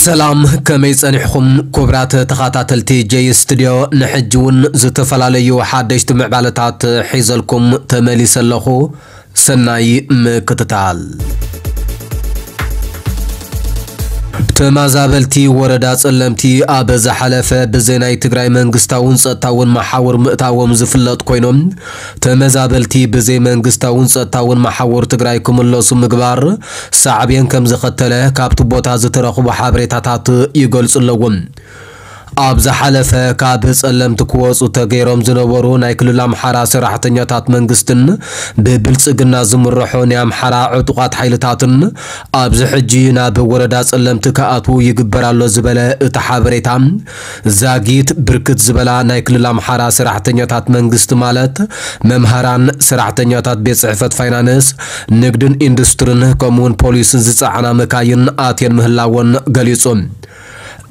ሰላም፣ ከመይ ጸኒሕኹም ክቡራት ተኸታተልቲ ጀይ ስቱድዮ? ንሕጂ እውን ዝተፈላለዩ ሓደሽቲ ምዕባለታት ሒዘልኩም ተመሊሰ ኣለኹ። ሰናይ ምክትታል። ተመዛበልቲ ወረዳ ጸለምቲ ኣብ ዝሓለፈ ብዘይ ናይ ትግራይ መንግስታውን ጸጥታውን መሓውር ምእታዎም ዝፍለጥ ኮይኖም፣ ተመዛበልቲ ብዘይ መንግስታውን ጸጥታውን መሓውር ትግራይ ክምለሱ ምግባር ሳዕቤን ከም ዘኸተለ ካብቲ ቦታ ዝተረኽቡ ሓበሬታታት ይገልጹ ኣለዉ። ኣብ ዝሓለፈ ካብ ጸለምቲ ክወጹ ተገይሮም ዝነበሩ ናይ ክልል ኣምሓራ ሰራሕተኛታት መንግስትን ብብልጽግና ዝምርሑ ናይ ኣምሓራ ዕጡቓት ሓይልታትን ኣብዚ ሕጂ ናብ ወረዳ ጸለምቲ ክኣትዉ ይግበር ኣሎ ዝበለ እቲ ሓበሬታ፣ ዛጊት ብርክት ዝበላ ናይ ክልል ኣምሓራ ሰራሕተኛታት መንግስቲ ማለት መምሃራን፣ ሰራሕተኛታት ቤት ጽሕፈት ፋይናንስ፣ ንግድን ኢንዱስትርን ከምኡውን ፖሊስን ዝጸዓና መካይን ኣትየን ምህላወን ገሊጹ።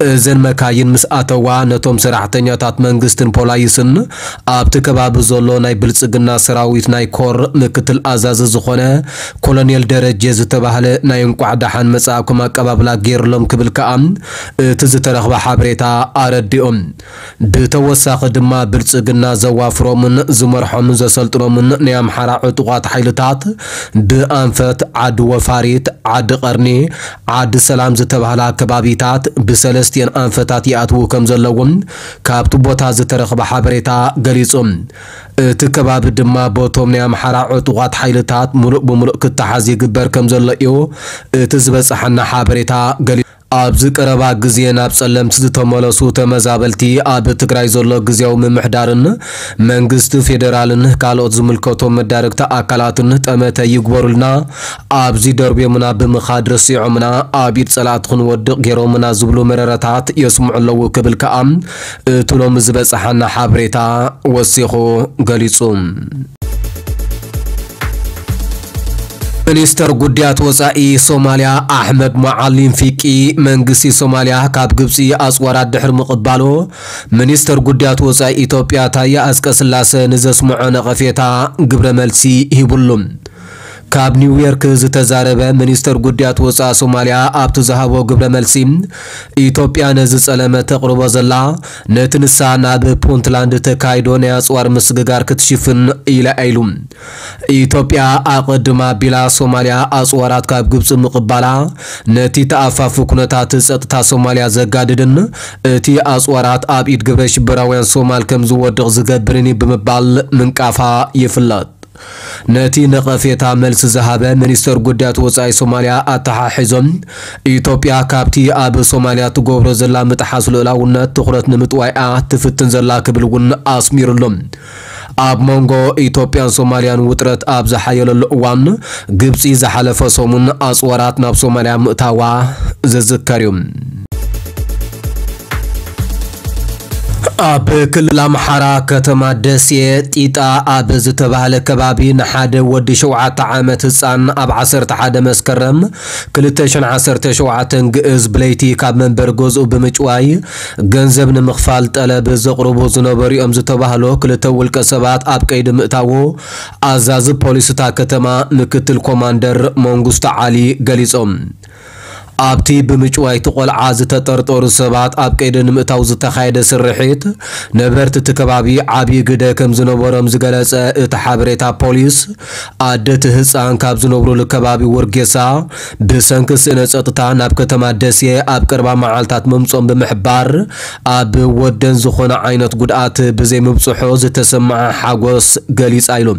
እዘን መካይን ምስ ኣተዋ ነቶም ሰራሕተኛታት መንግስትን ፖላይስን ኣብቲ ከባቢ ዘሎ ናይ ብልጽግና ሰራዊት ናይ ኮር ምክትል ኣዛዚ ዝኾነ ኮሎኔል ደረጀ ዝተባህለ ናይ እንቋዕ ደሓን መጻእኩም ኣቀባብላ ገይርሎም ክብል ከኣ እቲ ዝተረኽበ ሓበሬታ ኣረዲኦም። ብተወሳኺ ድማ ብልጽግና ዘዋፍሮምን ዝመርሖምን ዘሰልጥኖምን ናይ ኣምሓራ ዕጡቓት ሓይልታት ብኣንፈት፣ ዓዲ ወፋሪት፣ ዓዲ ቀርኒ፣ ዓዲ ሰላም ዝተባህላ ከባቢታት ብሰለስቲኤን ኣንፈታት ይኣትዉ ከም ዘለዎም ካብቲ ቦታ ዝተረኽበ ሓበሬታ ገሊጹ። እቲ ከባቢ ድማ በቶም ናይ ኣምሓራ ዕጡቓት ሓይልታት ምሉእ ብምሉእ ክተሓዝ ይግበር ከም ዘሎ እዩ እቲ ዝበጽሓና ሓበሬታ ገሊጹ። ኣብዚ ቀረባ ግዜ ናብ ጸለምቲ ዝተመለሱ ተመዛበልቲ ኣብ ትግራይ ዘሎ ግዝያዊ ምምሕዳርን መንግስቲ ፌደራልን ካልኦት ዝምልከቶም መዳርግቲ ኣካላትን ጠመተ ይግበሩልና፣ ኣብዚ ደርብዮምና ብምኻድ ረሲዖምና፣ ኣብ ኢድ ጸላእቲ ክንወድቕ ገይሮምና ዝብሉ መረረታት የስምዑ ኣለዉ ክብል ከኣ እቲ ሎሚ ዝበጽሓና ሓበሬታ ወሲኹ ገሊጹ። ሚኒስተር ጉዳያት ወጻኢ ሶማልያ ኣሕመድ መዓሊም ፊቂ፣ መንግስቲ ሶማልያ ካብ ግብጺ ኣጽዋራት ድሕሪ ምቕባሉ፣ ሚኒስተር ጉዳያት ወጻኢ ኢትዮጵያ ታየ ኣጽቀስላሰ ንዘስምዖ ነቐፌታ ግብረ መልሲ ሂቡሉ። ካብ ኒውዮርክ ዝተዛረበ ሚኒስተር ጉዳያት ወጻኢ ሶማልያ ኣብቲ ዝሃቦ ግብረ መልሲ፣ ኢትዮጵያ ነዚ ጸለመ ተቕርቦ ዘላ ነቲ ንሳ ናብ ፑንትላንድ ተካይዶ ናይ ኣጽዋር ምስግጋር ክትሽፍን ኢላ ኢሉ። ኢትዮጵያ ኣቐድማ ቢላ ሶማልያ ኣጽዋራት ካብ ግብጺ ምቕባላ ነቲ ተኣፋፊ ኩነታት ጸጥታ ሶማልያ ዘጋድድን እቲ ኣጽዋራት ኣብ ኢድ ግብረ ሽበራውያን ሶማል ከም ዝወድቕ ዝገብርን እዩ ብምባል ምንቃፋ ይፍለጥ። ነቲ ነቐፌታ መልሲ ዝሃበ ሚኒስተር ጉዳያት ወጻኢ ሶማልያ ኣተሓሒዞም፣ ኢትዮጵያ ካብቲ ኣብ ሶማልያ ትገብሮ ዘላ ምጥሓስ ልኡላውነት ትኹረት ንምጥዋይኣ ትፍትን ዘላ ክብል እውን ኣስሚሩሎም። ኣብ መንጎ ኢትዮጵያን ሶማልያን ውጥረት ኣብ ዝሓየለሉ እዋን፣ ግብጺ ዝሓለፈ ሰሙን ኣጽዋራት ናብ ሶማልያ ምእታዋ ዝዝከር እዩ። ኣብ ክልል ኣምሓራ ከተማ ደሴ ጢጣ ኣብ ዝተባህለ ከባቢ ንሓደ ወዲ ሸውዓተ ዓመት ህጻን ኣብ ዓሰርተ ሓደ መስከረም ክልተ ሽሕን ዓሰርተ ሸውዓተን ግእዝ ብለይቲ ካብ መንበሪ ገዝኡ ብምጭዋይ ገንዘብ ንምኽፋል ጠለብ ዘቕርቡ ዝነበሩ እዮም ዝተባህሉ ክልተ ውልቀ ሰባት ኣብ ቀይዲ ምእታዉ ኣዛዚ ፖሊስ እታ ከተማ ምክትል ኮማንደር መንግስቱ ዓሊ ገሊጾም። ኣብቲ ብምጭዋይ እቲ ቆልዓ ዝተጠርጠሩ ሰባት ኣብ ቀይዲ ንምእታው ዝተኻየደ ስርሒት፣ ነበርቲ እቲ ከባቢ ዓብዪ ግደ ከም ዝነበሮም ዝገለጸ እቲ ሓበሬታ ፖሊስ፣ ኣደ እቲ ህጻን ካብ ዝነብሩሉ ከባቢ ውርጌሳ ብሰንኪ ስእነ ጸጥታ ናብ ከተማ ደሴ ኣብ ቀረባ መዓልታት ምምጾም ብምሕባር፣ ኣብ ወደን ዝኾነ ዓይነት ጉድኣት ብዘይምብጽሑ ዝተሰምዓ ሓጎስ ገሊጻ ኢሉ።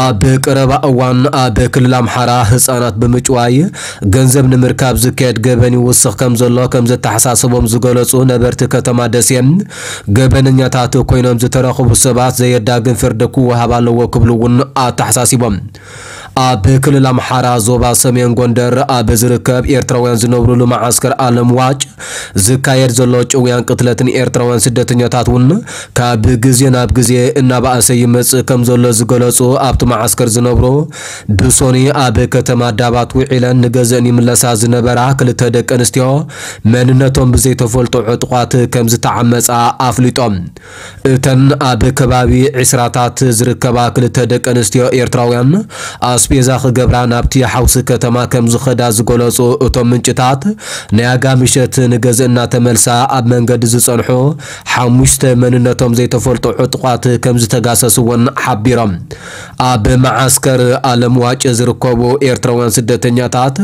ኣብ ቀረባ እዋን ኣብ ክልል ኣምሓራ ህጻናት ብምጭዋይ ገንዘብ ንምርካብ ዝካየድ ገበን ይውስኽ ከም ዘሎ ከም ዘተሓሳሰቦም ዝገለጹ ነበርቲ ከተማ ደሴ፣ ገበነኛታት ኮይኖም ዝተረኽቡ ሰባት ዘየዳግም ፍርዲ ክወሃብ ኣለዎ ክብሉ እውን ኣተሓሳሲቦም። ኣብ ክልል ኣምሓራ ዞባ ሰሜን ጎንደር ኣብ ዝርከብ ኤርትራውያን ዝነብሩሉ መዓስከር ኣለምዋጭ ዝካየድ ዘሎ ጭውያን ቅትለትን ኤርትራውያን ስደተኛታት እውን ካብ ግዜ ናብ ግዜ እናባእሰ ይመጽእ ከም ዘሎ ዝገለጹ ኣብቲ መዓስከር ዝነብሩ ብሶኒ ኣብ ከተማ ዳባት ውዒለን ንገዘእን ይምለሳ ዝነበራ ክልተ ደቂ ኣንስትዮ መንነቶም ብዘይተፈልጡ ዕጡቓት ከም ዝተዓመጻ ኣፍሊጦም። እተን ኣብ ከባቢ ዒስራታት ዝርከባ ክልተ ደቂ ኣንስትዮ ኤርትራውያን ኣስ ኣስቤዛ ክገብራ ናብቲ ሓውሲ ከተማ ከም ዝኸዳ ዝገለጹ እቶም ምንጭታት፣ ናይ ኣጋ ምሸት ንገዝእ እናተመልሳ ኣብ መንገዲ ዝጸንሑ ሓሙሽተ መንነቶም ዘይተፈልጡ ዕጡቓት ከም ዝተጋሰሱ እውን ሓቢሮም። ኣብ መዓስከር ኣለምዋጭ ዝርከቡ ኤርትራውያን ስደተኛታት፣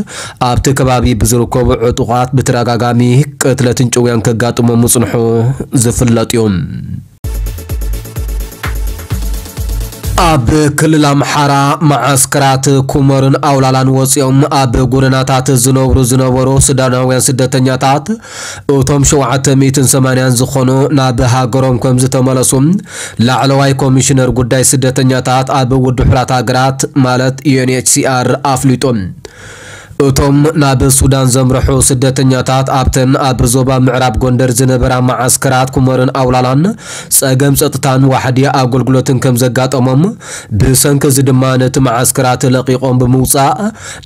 ኣብቲ ከባቢ ብዝርከቡ ዕጡቓት ብተደጋጋሚ ቅትለትን ጭውያን ከጋጥሞም ምጽንሑ ዝፍለጥ እዩ። ኣብ ክልል ኣምሓራ መዓስከራት ኩመርን ኣውላላን ወፂኦም ኣብ ጎደናታት ዝነብሩ ዝነበሩ ሱዳናውያን ስደተኛታት፣ እቶም ሸውዓተ ሚእትን ሰማንያን ዝኾኑ ናብ ሃገሮም ከም ዝተመለሱ ላዕለዋይ ኮሚሽነር ጉዳይ ስደተኛታት ኣብ ውድብ ሕቡራት ሃገራት ማለት ዩ ኤን ኤች ሲ ኣር ኣፍሊጡ። እቶም ናብ ሱዳን ዘምርሑ ስደተኛታት ኣብተን ኣብ ዞባ ምዕራብ ጎንደር ዝነበራ መዓስከራት ኩመርን ኣውላላን ጸገም ጸጥታን ዋሕዲ ኣገልግሎትን ከም ዘጋጠሞም፣ ብሰንኪ እዚ ድማ ነቲ መዓስከራት ለቒቖም ብምውጻእ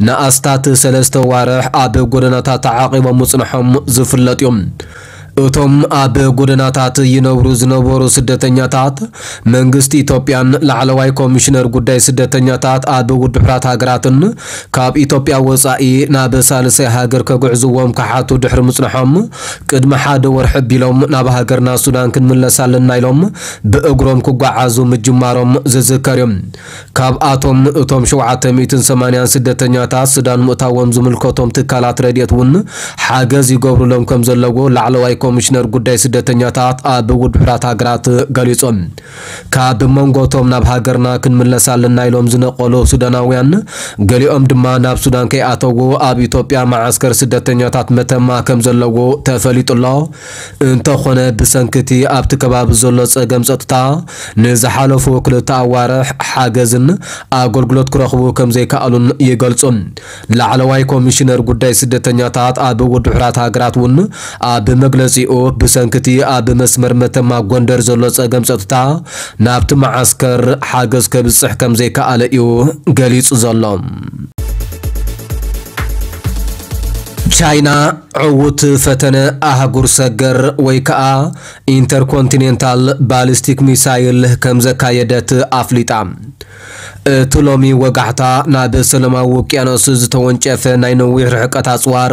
ንኣስታት ሰለስተ ዋርሕ ኣብ ጎደናታት ተዓቒቦም ምጽንሖም ዝፍለጥ እዩ። እቶም ኣብ ጎደናታት ይነብሩ ዝነበሩ ስደተኛታት፣ መንግስቲ ኢትዮጵያን ላዕለዋይ ኮሚሽነር ጉዳይ ስደተኛታት ኣብ ውድብ ሕቡራት ሃገራትን ካብ ኢትዮጵያ ወጻኢ ናብ ሳልሳይ ሃገር ከጉዕዝዎም ክሓቱ ድሕሪ ምጽንሖም፣ ቅድሚ ሓደ ወርሒ ኣቢሎም ናብ ሃገርና ሱዳን ክንምለስ ኣለና ኢሎም ብእግሮም ክጓዓዙ ምጅማሮም ዝዝከር እዩ። ካብኣቶም እቶም ሸውዓተ ሚእትን ሰማንያን ስደተኛታት ሱዳን ምእታዎም ዝምልከቶም ትካላት ረድኤት እውን ሓገዝ ይገብሩሎም ከም ዘለዎ ላዕለዋይ ኮሚሽነር ጉዳይ ስደተኛታት ኣብ ውድብ ሕቡራት ሃገራት ገሊጾም። ካብ መንጎቶም ናብ ሃገርና ክንምለስ ኣለና ኢሎም ዝነቀሉ ሱዳናውያን፣ ገሊኦም ድማ ናብ ሱዳን ከይኣተዉ ኣብ ኢትዮጵያ መዓስከር ስደተኛታት መተማ ከም ዘለዎ ተፈሊጡ ኣሎ። እንተኾነ ብሰንኪ እቲ ኣብቲ ከባቢ ዘሎ ጸገም ጸጥታ ንዝሓለፉ ክልተ ኣዋርሕ ሓገዝን ኣገልግሎት ክረኽቡ ከም ዘይከኣሉን ይገልጹ። ላዕለዋይ ኮሚሽነር ጉዳይ ስደተኛታት ኣብ ውድብ ሕቡራት ሃገራት እውን ኣብ መግለጺኡ ብሰንኪ እቲ ኣብ መስመር መተማ ጎንደር ዘሎ ጸገም ጸጥታ ናብቲ መዓስከር ሓገዝ ከብጽሕ ከም ዘይከኣለ እዩ ገሊጹ ዘሎ። ቻይና ዕዉት ፈተነ ኣህጉር ሰገር ወይ ከኣ ኢንተርኮንቲኔንታል ባሊስቲክ ሚሳይል ከም ዘካየደት ኣፍሊጣ። እቲ ሎሚ ወጋሕታ ናብ ሰላማዊ ውቅያኖስ ዝተወንጨፈ ናይ ነዊሕ ርሕቀት ኣጽዋር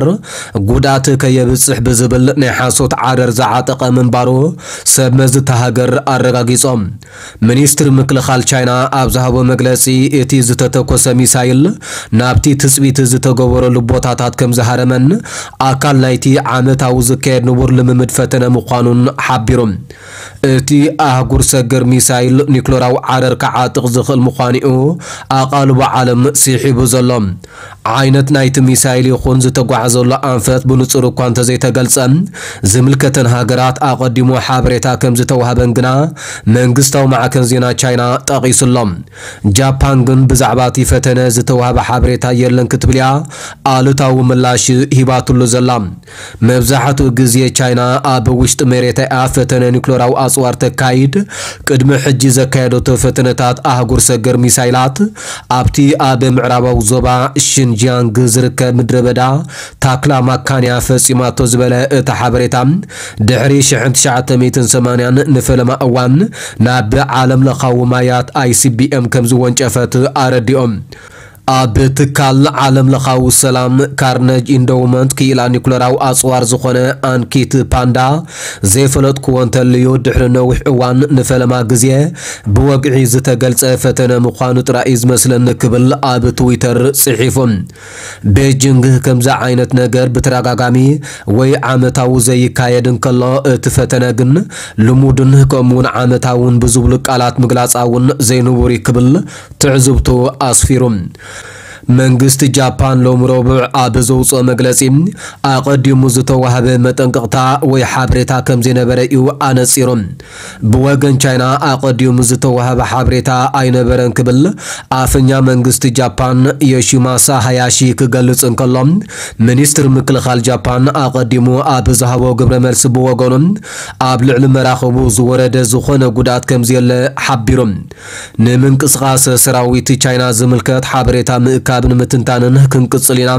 ጉድኣት ከየብጽሕ ብዝብል ናይ ሓሶት ዓረር ዝዓጠቐ ምንባሩ ሰብ መዚ እታ ሃገር ኣረጋጊጾም። ሚኒስትሪ ምክልኻል ቻይና ኣብ ዝሃቦ መግለጺ፣ እቲ ዝተተኮሰ ሚሳይል ናብቲ ትጽቢት ዝተገበረሉ ቦታታት ከም ዝሃረመን ኣካል ናይቲ ዓመታዊ ዝካየድ ንቡር ልምምድ ፈተነ ምዃኑን ሓቢሩ። እቲ ኣህጉር ሰገር ሚሳይል ኒክለራዊ ዓረር ክዓጥቕ ዝኽእል ምዃኑ'ዩ ኣቓልቦ ዓለም ስሒቡ ዘሎ። ዓይነት ናይቲ ሚሳይል ይኹን ዝተጓዓዘሉ ኣንፈት ብንጹር እኳ እንተዘይተገልጸ፣ ዝምልከተን ሃገራት ኣቐዲሙ ሓበሬታ ከም ዝተዋህበን ግና መንግስታዊ ማዕከን ዜና ቻይና ጠቒሱ ኣሎ። ጃፓን ግን ብዛዕባ እቲ ፈተነ ዝተዋህበ ሓበሬታ የለን ክትብል እያ ኣሉታዊ ምላሽ ሂባትሉ ዘላ። መብዛሕትኡ ግዜ ቻይና ኣብ ውሽጢ መሬታ እያ ፈተነ ኒክለራዊ ኣጽዋር ተካይድ። ቅድሚ ሕጂ ዘካየደቶ ፈተነታት ኣህጉር ሰገር ሚሳይላት ኣብቲ ኣብ ምዕራባዊ ዞባ ሽንጂያንግ ዝርከብ ምድረ በዳ ታክላማካንያ ፈጺማቶ ዝበለ እቲ ሓበሬታ፣ ድሕሪ ሽሕን ትሽዓተ ሚእትን ሰማንያን ንፈለማ እዋን ናብ ዓለም ለኻዊ ማያት ኣይ ሲ ቢ ኤም ከም ዝወንጨፈት ኣረዲኦም። ኣብ ትካል ዓለም ለኻዊ ሰላም ካርነጅ ኢንዶውመንት ክኢላ ኒኩለራዊ ኣጽዋር ዝኾነ ኣንኪት ፓንዳ፣ ዘይፈለጥክዎ እንተልዩ ድሕሪ ነዊሕ እዋን ንፈለማ ግዜ ብወግዒ ዝተገልጸ ፈተነ ምዃኑ ጥራይ እዩ ዝመስለኒ ክብል ኣብ ትዊተር ጽሒፉ። ቤጂንግ ከምዚ ዓይነት ነገር ብተደጋጋሚ ወይ ዓመታዊ ዘይካየድ እንከሎ፣ እቲ ፈተነ ግን ልሙድን ከምኡውን ዓመታውን ብዝብሉ ቃላት ምግላጻ እውን ዘይንቡር እዩ ክብል ትዕዝብቱ ኣስፊሩ። መንግስቲ ጃፓን ሎሚ ረቡዕ ኣብ ዘውፅኦ መግለፂ፣ ኣቐዲሙ ዝተዋህበ መጠንቀቕታ ወይ ሓበሬታ ከም ዘይነበረ እዩ ኣነፂሩ። ብወገን ቻይና ኣቐዲሙ ዝተዋህበ ሓበሬታ ኣይነበረን ክብል ኣፈኛ መንግስቲ ጃፓን ዮሺማሳ ሃያሺ ክገልጽ እንከሎ፣ ሚኒስትር ምክልኻል ጃፓን ኣቐዲሙ ኣብ ዝሃቦ ግብረ መልሲ ብወገኑ፣ ኣብ ልዕሊ መራኽቡ ዝወረደ ዝኾነ ጉድኣት ከም ዘየለ ሓቢሩ። ንምንቅስቓስ ሰራዊት ቻይና ዝምልከት ሓበሬታ ምእካብ ንምትንታንን ክንቅጽል ኢና።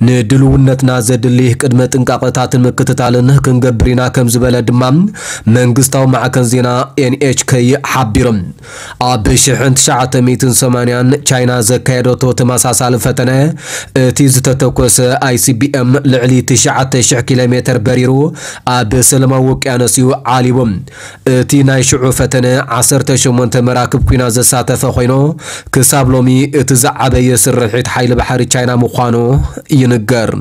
ንድልውነትና ዘድሊ ቅድመ ጥንቃቐታትን ምክትታልን ክንገብር ኢና ከም ዝበለ ድማ መንግስታዊ ማዕከን ዜና ኤንኤችኬ ሓቢሩ። ኣብ ሽሕን ትሽዓተ ሚእትን ሰማንያን ቻይና ዘካየደቶ ተመሳሳሊ ፈተነ፣ እቲ ዝተተኮሰ ኣይሲቢኤም ልዕሊ ትሽዓተ ሽሕ ኪሎ ሜትር በሪሩ ኣብ ሰላማዊ ውቅያኖስ እዩ ዓሊቡ። እቲ ናይ ሽዑ ፈተነ ዓሰርተ ሸሞንተ መራክብ ኲናት ዘሳተፈ ኮይኑ፣ ክሳብ ሎሚ እቲ ዝዓበየ ስርሒት ሓይሊ ባሕሪ ቻይና ምዃኑ ይንገር።